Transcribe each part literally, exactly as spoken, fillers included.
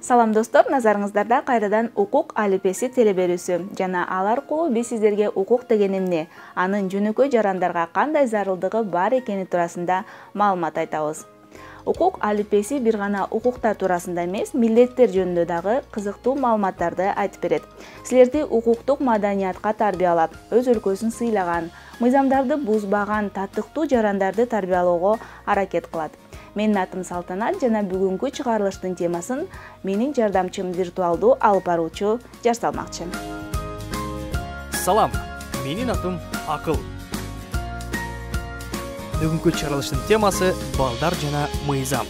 Салам достор, назарыңыздарда кайрадан укук алипеси телеберүүсү жана ал аркылуу биз сиздерге укук деген эмне, анын жөнөкөй жарандарга кандай зарылдыгы бар экени туурасында маалымат айтабыз. Укук алипеси бир гана укуктар туурасында эмес, милдеттер жөнүндө дагы кызыктуу маалыматтарды айтып берет. Силерди укуктук маданиятка тарбиялап, өз өлкөсүн сыйлаган, мыйзамдарды бузбаган татыктуу жарандарды тарбиялоого аракет кылат. Менин атым Салтанат жана бүгүнкү чыгарылыштын темасын менин жардамчым виртуалдуу алып баруучу жасалмакчы. Салам, менин атым Акыл. Бүгүнкү чыгарылыштын темасы балдар жана мыйзам.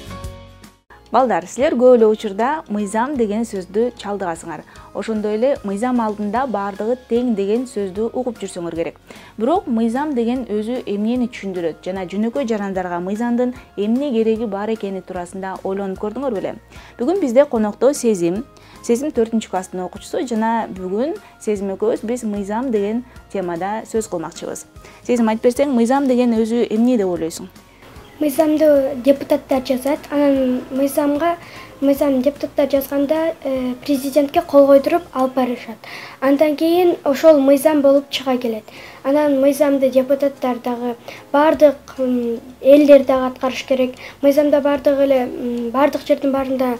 Балдар, силер көп эле учурда мыйзам деген сөздү чалдыгасыңар. Ошондой эле мыйзам алдында баардыгы тең деген сөздү угуп жүрсөңөр керек. Бирок мыйзам деген өзү эмнени түшүндүрөт жана жөнөкөй жарандарга мыйзамдын эмне кереги бар экени туурасында ойлонуп көрдүңөр беле? Бүгүн бизде конокто Сезим, Сезим төртүнчү класстын окуучусу жана бүгүн Сезим экөөбүз биз мыйзам деген темада сөз кылмакчыбыз. Сезим, айтып берсең, мыйзам деген өзү эмне деп ойлойсуң? Мыйзамды депутаттар жазат. Анан мыйзамга мыйзам депутаттар жазганда президентке кол койдуруп алып барышат. Андан кийин ошол мыйзам болуп чыга келет. Анан мыйзамды депутаттар дагы бардык элдер дагы аткарыш керек. Мыйзамда бардык эле бардык жердин баарында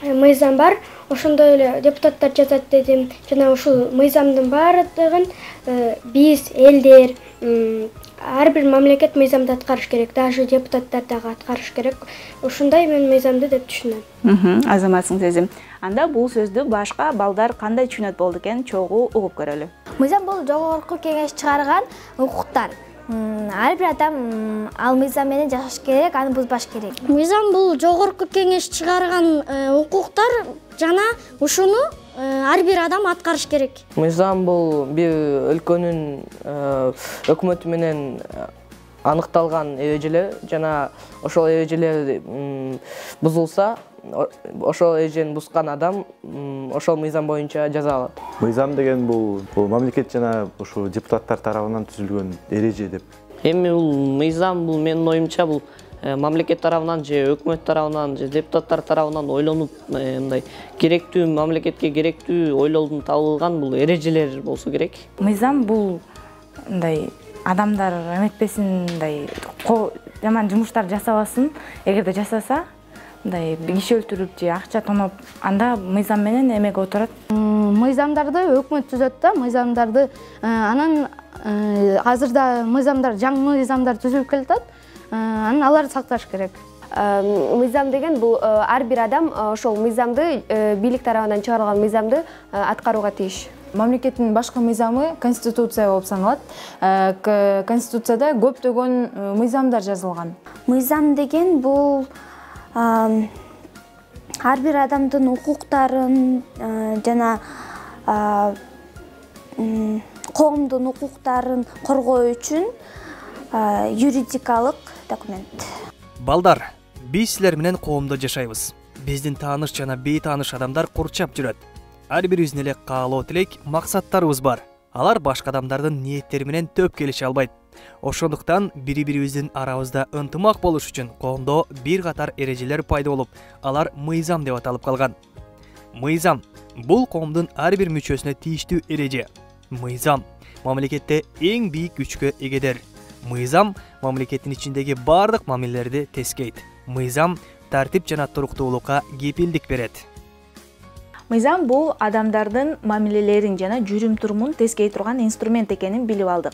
мыйзам бар. Ошондой эле депутаттар жазат дедим. Жана ушул мыйзамдын баардыгын биз элдер ар бир мамлекет мыйзамды аткарыш керек, даже депутаттар дагы аткарыш керек. Ушундай мен мыйзамды деп түшүнөм. Азаматсың Сезим. Анда бул сөздү башка балдар кандай түшүнөт болду экен, чогуу угуп көрөлү. Мыйзам бул жогорку кеңеш чыгарган укуктар. Ар бир адам ал мыйзам менен жашаш керек, аны бузбаш керек. Мыйзам бул жогорку кеңеш чыгарган укуктар жана ушуну ар бир адам аткарыш керек. Мыйзам бул бир өлкөнүн өкмөтү менен аныкталган эрежелер жана ошол эрежелер бузулса, ошол эрежени бузган адам ошол мыйзам боюнча жаза алат. Мыйзам деген бул бул мамлекет жана ошо депутаттар тарабынан түзүлгөн эреже деп. Эми бул мыйзам бул менин оюмча бул мамлекет тарабынан же өкмөт тарабынан же депутаттар тарабынан ойлонуп мындай керектүү мамлекетке керектүү ойлолдун табылган бул эрежелер болсо керек. Мыйзам бул мындай адамдар эметпесин, мындай жаман жумуштар жасабасын. Эгерде жасаса, мындай киши өлтүрүп же акча тоноп, анда мыйзам менен эмеге отурат. Мыйзамдарды өкмөт түзөт да, мыйзамдарды анан азырда мыйзамдар, жаңы мыйзамдар түзүлүп келатат. Анан аларды сакташ керек. Мыйзам деген бул ар бир адам ошол мыйзамды бийлик тарабынан чыгарылган мыйзамды аткарууга тийиш. Мамлекеттин башкы мыйзамы конституция болуп саналат. Конституцияда көптөгөн мыйзамдар жазылган. Мыйзам деген бул ар бир адамдын укуктарын жана коомдун укуктарын коргоо үчүн юридикалык документ. Балдар, биз силер менен коомдо жашайбыз. Биздин тааныш жана бейтааныш адамдар курчап жүрөт. Ар бирибиздин эле каалоо тилек, максаттарыбыз бар. Алар башка адамдардын ниеттери менен төп келише албайт. Ошондуктан бири-бирибиздин арабызда ынтымак болуш үчүн коомдо бир катар эрежелер пайда болуп, алар мыйзам деп аталып калган. Мыйзам бул коомдун ар бир мүчөсүнө тийиштүү эреже. Мыйзам мамлекетте эң бийик күчкө эгедир. Мыйзам мамлекеттин ичиндеги бардык мамилелерди тескейт. Мыйзам тартип жана туруктуулукка кепилдик берет. Мыйзам бул адамдардын мамилелерин жана жүрүм-турумун тескей турган инструмент экенин билип алдык.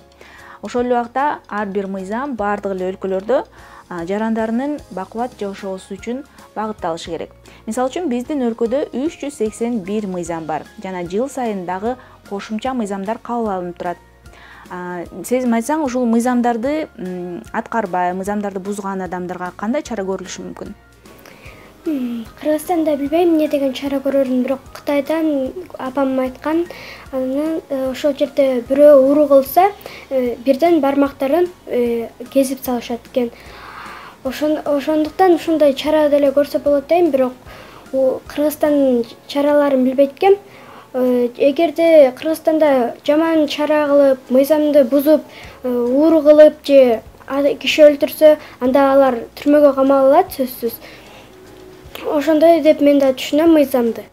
Ошол эле убакта ар бир мыйзам бардык эле өлкөлөрдө жарандарынын бакубат жашоосу үчүн багытталышы керек. Мисалы үчүн биздин өлкөдө үч жүз сексен бир мыйзам бар жана жыл сайын дагы кошумча мыйзамдар кабыл алынып турат. Сезим, айтсаң, ушул мыйзамдарды аткарбай, мыйзамдарды бузган адамдарга кандай чара көрүлүшү мүмкүн? Кыргызстанда билбейм эмне деген чара көрөрүн, бирок Кытайдан апам айткан, анан ошол жерде бирөө уру кылса, бирден бармактарын кезип салышат экен. Ошондуктан ушундай чара деле көрсө болот дейм, бирок Кыргызстандын чараларын билбейт экем. Эгерде Кыргызстанда жаман чара кылып, мыйзамды бузуп, уру кылып же киши өлтүрсө, анда алар түрмөгө камалат сөзсүз. ошондой деп мен да түшүнөм мыйзамды.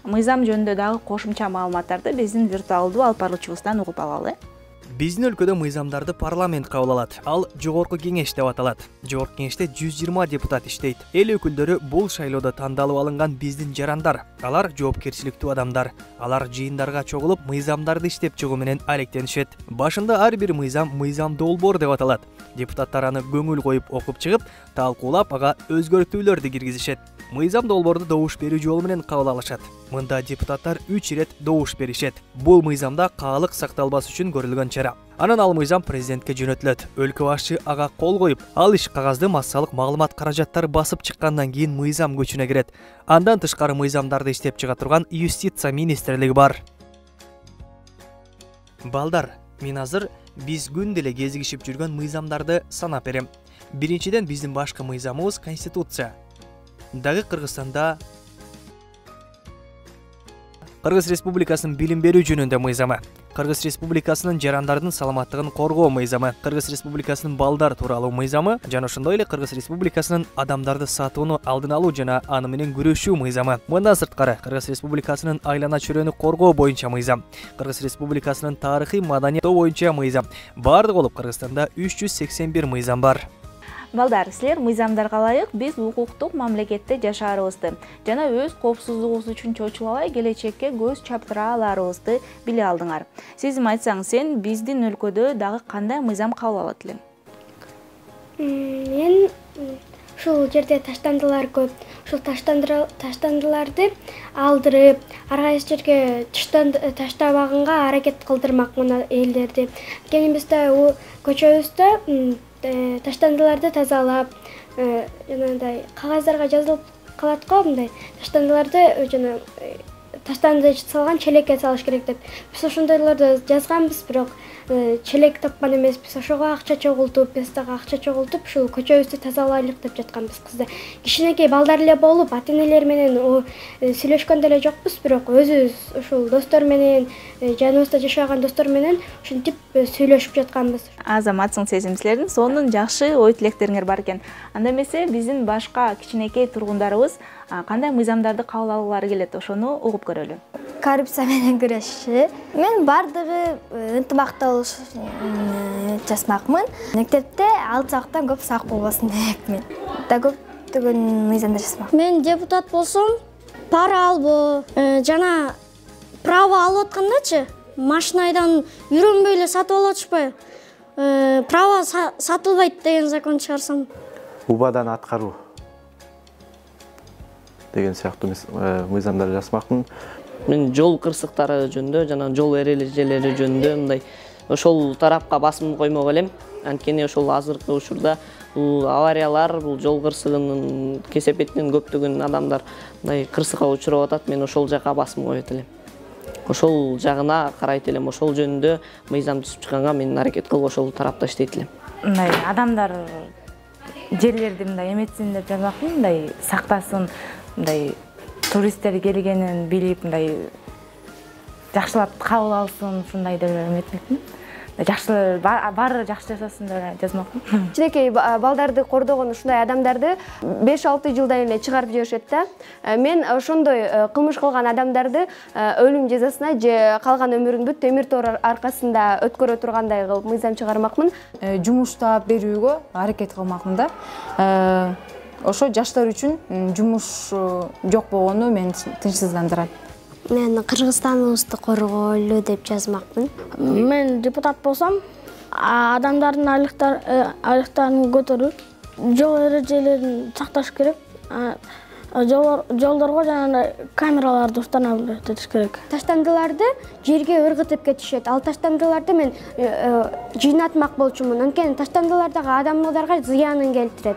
Мыйзам жөнүндө дагы кошумча маалыматтарды биздин виртуалдуу алып баруучубуздан угуп алалы. Биздин өлкөдө мыйзамдарды парламент кабыл алат. Ал жогорку кеңеш деп аталат. Жогорку кеңеште жүз жыйырма депутат иштейт. Эл өкүлдөрү бул шайлоодо тандалып алынган биздин жарандар. Алар жоопкерчиликтүү адамдар. Алар жыйындарга чогулуп, мыйзамдарды иштеп чыгуу менен алектенишет. Башында ар бир мыйзам мыйзам долбоор деп аталат. Депутаттар аны көңүл коюп окуп чыгып, талкуулап, ага өзгөртүүлөрдү киргизишет. Мыйзам долбоорду добуш берүү жолу менен кабыл алышат. Мында депутаттар үч ирет добуш беришет. Бул мыйзамда каалык сакталбас үчүн көрүлгөн чара. Анан ал мыйзам президентке жөнөтүлөт. Өлкө башчы ага кол коюп, ал иш кагазды массалык маалымат каражаттары басып чыккандан кийин мыйзам күчүнө кирет. Андан тышкары мыйзамдарды иштеп чыга турган юстиция министрлиги бар. Балдар, мен азыр биз күн деле кезигишип жүргөн мыйзамдарды санап берем. Биринчиден биздин башкы мыйзамыбыз конституция. Дагы Кыргызстанда Кыргыз Республикасынын билим берүү жөнүндө мыйзамы, Кыргыз Республикасынын жарандардын саламаттыгын коргоо мыйзамы, Кыргыз Республикасынын балдар тууралуу мыйзамы жана ошондой эле Кыргыз Республикасынын адамдарды сатууну алдын алуу жана аны менен күрөшүү мыйзамы. Мындан сырткары Кыргыз Республикасынын айлана чөйрөнү коргоо боюнча мыйзам, Кыргыз Республикасынын тарыхый маданият боюнча мыйзам. Бардыгы болуп Кыргызстанда үч жүз сексен бир мыйзам бар. Балдар, силер мыйзамдарга ылайык биз укуктук мамлекетте жашаарыбызды жана өз коопсуздугубуз үчүн чочулабай келечекке көз чаптыра аларыбызды биле алдыңар. Сизим айтсаң, сен биздин өлкөдө дагы кандай мыйзам кабыл алат элең? Мен ушул жерде таштандылар көп. Ушул таштандыларды алдырып, ар кайсы жерге таштабаганга аракет кылдырмакмын элдерди. Анткени бизде көчөбүздө таштандыларды тазалап, жанагындай кагаздарга жазылып калат го, мындай таштандыларды жана таштанды салган челекке салыш керек деп. Биз ошондойлорду жазганбыз, бирок челек тапкан эмеспиз. Ошого акча чогултуп, биз дагы акча чогултуп, ушул көчөбүздү тазалайлык деп жатканбыз. Кызда кичинекей балдар эле болуп, ата-энелер менен сүйлөшкөн деле жокпуз, бирок өзүбүз ушул достор менен, жаныбызда жашаган достор менен ушинтип сүйлөшүп жатканбыз. Азаматсың сезим, силердин сонун жакшы ой тилектериңер бар экен. Анда эмесе биздин башка кичинекей тургундарыбыз кандай мыйзамдарды кабыл алгылары келет, ошону угуп көрөлү. Коррупция менен күрөшүү. Мен бардыгы ынтымактуу жасмакмын. Мектепте алты сабактан көп сабак болбосун депмин. Да көптөгөн мыйзамдар жасмакмын. Мен депутат болсом, пара албоо жана право алып аткандачы, машинайдан үйрөнбөй эле сатып алып атышпайбы? Право сатылбайт деген закон чыгарсам. Убадан аткаруу деген сыяктуу мыйзамдар жасмакмын. Мен жол кырсыктары жөнүндө жана жол эрежелери жөнүндө мындай ошол тарапка басым коймок элем. Анткени ошол азыркы учурда бул авариялар, бул жол кырсыгынын кесепетинен көптөгөн адамдар мындай кырсыкка учурап атат. Мен ошол жака басым коет элем. Ошол жагына карайт элем. Ошол жөнүндө мыйзам түзүп чыкканга мен аракет кылып ошол тарапта иштейт элем. Мындай адамдар жерлерди мындай эметсин деп жазмакмын, мындай сактасын, мындай туристтер келгенин билип, мындай жакшылап кабыл алсын, ушундай деп эметмекмин. Жакшы баары жакшы жашасын деп жазмакмын. Кичинекей балдарды кордогон ушундай адамдарды беш алты жылдан эле чыгарып жиберишет да. Мен ошондой кылмыш кылган адамдарды өлүм жазасына же калган өмүрүндү темир тор аркасында өткөрө тургандай кылып мыйзам чыгармакмын. Жумуш таап берүүгө аракет кылмакмын да. Ошо жаштар үчүн жумуш жок болгону мени тынчсыздандырат. Мен Кыргызстаныбызды коргойлу деп жазмакмын. Мен депутат болсом, адамдардын айлыктарын көтөрүп, жол эрежелерин сакташ керек. Жолдорго жана камераларды устана билиш керек. Таштандыларды жерге ыргытып кетишет. Ал таштандыларды мен жыйнатмак болчумун. Анткени таштандылардагы адамдарга зыянын келтирет.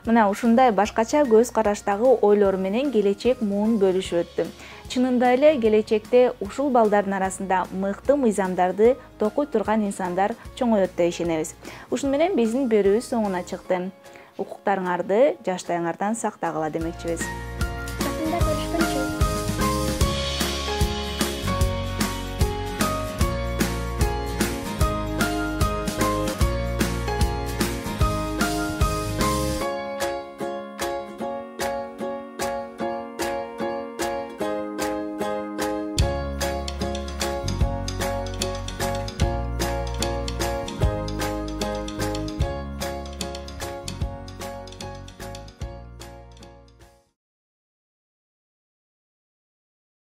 Мына ушундай башкача көз караштагы ойлор менен келечек муун бөлүшүп өттү. Чынында эле келечекте ушул балдардын арасында мыкты мыйзамдарды токуй турган инсандар чоңойот деп ишенебиз. Ушуну менен биздин берүүбүз соңуна чыкты. Укуктарыңарды жаштарыңардан сактагыла демекчибиз.